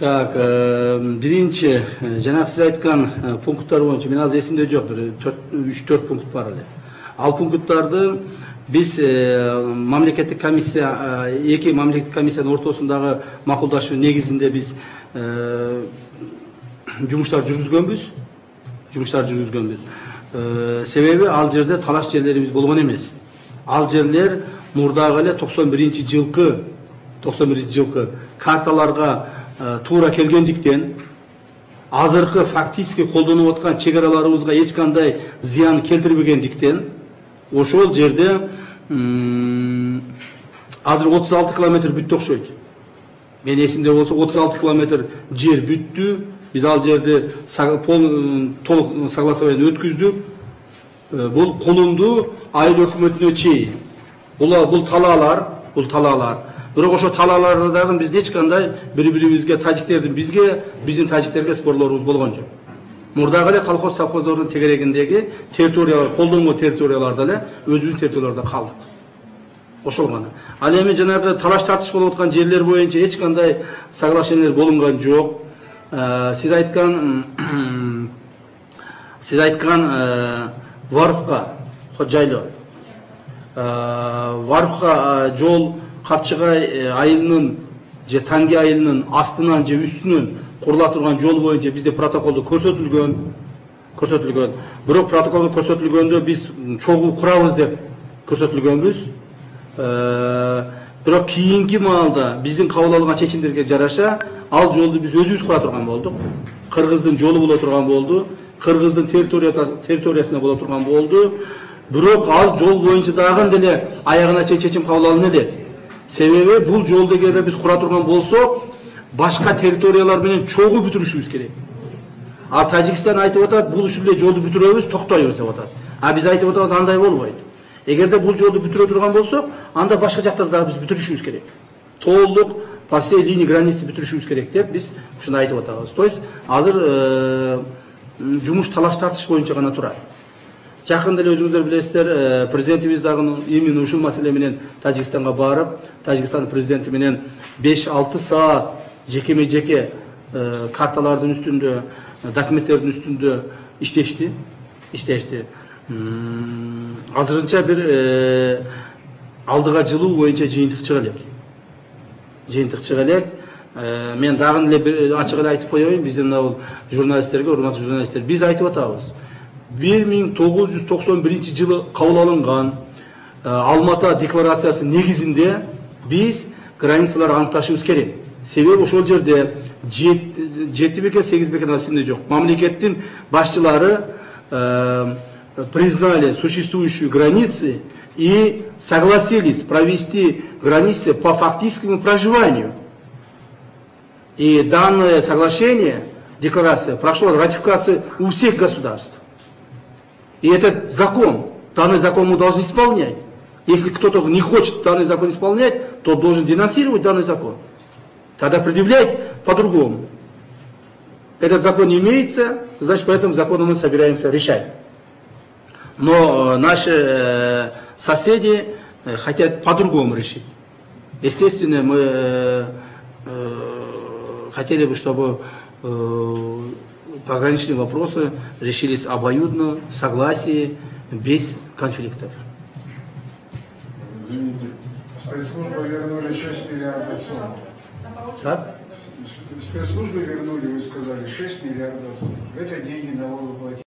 Так, биринчи жана сиз айткан пункттар боюнча мен азыр эсимде жок, бир 3-4 пункт бар эле. Ал пункттарды биз мамлекеттик комиссия, эки мамлекеттик комиссиянын ортосундагы макулдашуу негизинде биз жумуштар жүргүзгөнбүз. Себеби ал жерде талаш жерлерибиз болгон эмес. Ал жерлер мурдагы эле 91 жылкы карталарга туура келгендиктен, азыркы фактически колдонуп аткан чек араларыбызга эч кандай зыян келтирбегендиктен, ошол жерде азыр 36 километр бүттү окшойт. Мен эсимде болсо 36 километр жер бүттү. Биз ал жерде толук согласование өткүздүк. Бул колунду айыл өкмөтүнө чейин. Бул талаалар. Бирок ошо талааларда дагы биз эч кандай бири-бирибизге, тажиктердин биздин тажиктерге спорлорубуз болгон жок. Мурдагы эле колхоз совхоздордун тегерегиндеги территориялар, колдонмо территорияларда эле өзүбүздүн территорияларда калдык. Ошол гана. Ал эми жанагы талаш тартыш болуп аткан жерлер боюнча эч кандай соглашениялар болунган жок. Сиз айткан Варухка жайлоо. Варухка жол Капчыгай айылынын же Танги айылынын астынан же үстүнөн курула турган жол боюнча бизде протоколдо көрсөтүлгөн. Бирок протоколдо көрсөтүлгөндө биз чогуу курабыз деп көрсөтүлгөнбүз. Бирок кийинки маалда биздин кабыл алган чечимдерге жараша ал жолду биз өзүбүз кура турган болдук. Кыргыздын жолу боло турган болду. Кыргыздын территориясында боло турган болду. Бирок ал жол боюнча дагы деле аягына чейин чечим кабыл алынды деп. Себеби бул жолду эгерде биз кура турган болсок, башка территориялар менен чогуу бүтүрүшүбүз керек. А Тажикстан айтып атат, бул ушул эле жолду бүтүрөбүз, токтойбуз деп атат. А биз айтып атабыз, андай болбойт. Эгерде бул жолду бүтүрө турган болсок, анда башка жактарды дагы биз бүтүрүшүбүз керек. Толук по всей линии границы бүтүрүшүбүз керек деп биз ушуну айтып атабыз. То есть азыр жумуш талаш тартыш боюнча гана турат. Жакында эле өзүңүздөр билесиздер, президентибиз дагы именно ушул маселе менен Тажикстанга барып, Тажикстан президенти менен 5-6 саат жекеме-жеке карталардын үстүндө, документтердин үстүндө иштешти. Азырынча бир алдыга жылуу боюнча жыйынтык чыга элек. Мен дагы эле ачык эле айтып коеюн, биздин журналисттерге, урматтуу журналисттер, биз айтып атабыз. 1991 жылы кабыл алынган Алмата декларациясы негизинде биз границаларды аныкташыбыз керек. Себеби ошол жерде 7 бекен 8 бекен асында жок. Мамлекеттин башчылары признали существующие границы и согласились провести границы по фактическому проживанию. И данное соглашение, декларация, прошло ратификацию у всех государств. И этот закон, данный закон мы должны исполнять. Если кто-то не хочет данный закон исполнять, то должен денонсировать данный закон. Тогда предъявлять по-другому. Этот закон не имеется, значит, по этому закону мы собираемся решать. Но наши соседи хотят по-другому решить. Естественно, мы хотели бы, чтобы пограничные вопросы решились обоюдно, в согласии, без конфликтов. Спецслужбы вернули 6 миллиардов сумм. Как? Спецслужбы вернули, вы сказали, 6 миллиардов сумм. Это деньги налогоплательщиков.